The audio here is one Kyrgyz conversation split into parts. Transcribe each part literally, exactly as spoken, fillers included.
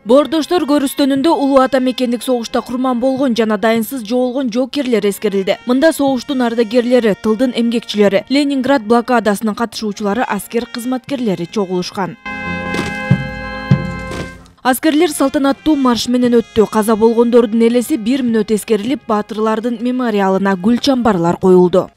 Боордоштор көрүстөнүндө улуу ата мекендик согушта курман болгон жана дайынсыз жоолгон жоокерлер эскерилди. Мында согуштун ардагерлери, тылдын эмгекчилери, Ленинград блокадасынын катышуучулары, аскер кызматкерлери чогулушкан. Аскерлер салтанаттуу марш менен өттү. Каза болгондордун элеси бир мүнөт эскерилип, баатырлардын мемориалына гүл чамбарлар коюлду.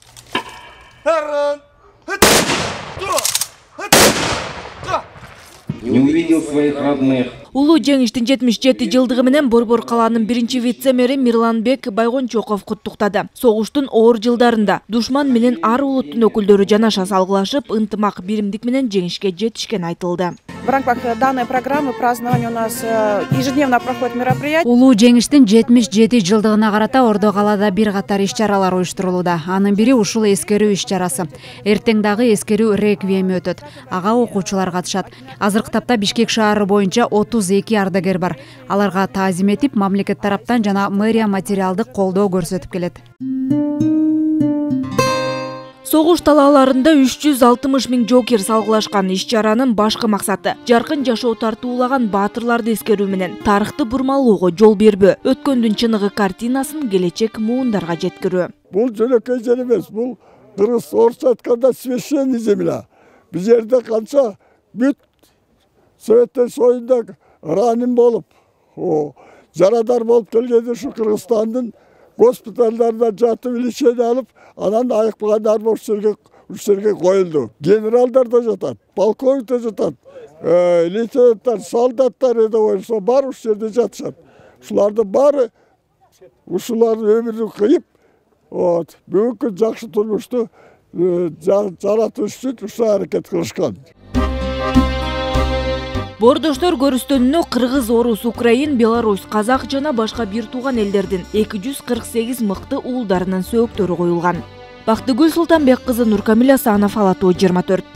Не увидел своих родных. Улуу жеңиштин жетимиш жети жылдыгы менен Борбор калаанын биринчи вице-мэри Мирланбек Байгончоков куттуктады. Согуштун оор жылдарында душман менен ар улуттун өкүлдөрү жанаша салгылашып, ынтымак, биримдик менен жеңишке жетишкени айтылды. В рамках данной программы празднования у нас ежедневно проходит мероприятие. Улуу жеңиштин жетимиш жети жылдыгына карата Ордо калаада бир катар иш-чаралар уюштурулууда. Анын бири ушул эскерүү иш-чарасы. Эртең дагы эскерүү реквиеми өтөт. Ага окуучулар катышат. Азыркы тапта Бишкек шаары боюнча отуз эки ардагер бар. Аларга таазим этип, мамлекет тараптан жана мэрия материалдык колдоо көрсөтүп келет. Согуш талааларында үч жүз алтымыш миң жоокер салгылашкан. Иш-чаранын башкы максаты жаркын жашоо тартуулаган баатырларды эскерүү менен тарыхты бурмалоого жол бербөө, өткөндүн чыныгы картинасын келечек муундарга жеткирүү. Бул жөнөкөй жер эмес, бул кыргыз орусча айтканда священный земля. Бул жерде канча бүт Советтер союзунда раним болуп, жарадар болуп келгенде ушу Кыргызстандын госпитальдарында жатып лечение алып, анан айыкпагандар ушул жерге ушул жерге коюлду. Генералдар да жатат, полковник да жатат, лейтенанттар, солдаттар эде бар ушул жерде жатышат. Ушулардын баары ушулардын өмүрүн кыйып, вот, бүгүнкү жакшы турмушту жаратыш үчүн ушул аракет кылышкан. Боордоштор көрүстөнүнө кыргыз, орус, украин, белорус, казак жана башка бир тууган элдердин эки жүз кырк сегиз мыкты уулдарынын сөөктөрү коюлган. Бактыгүл Султанбек кызы, Нуркамил Асанов, Ала Тоо жыйырма төрт.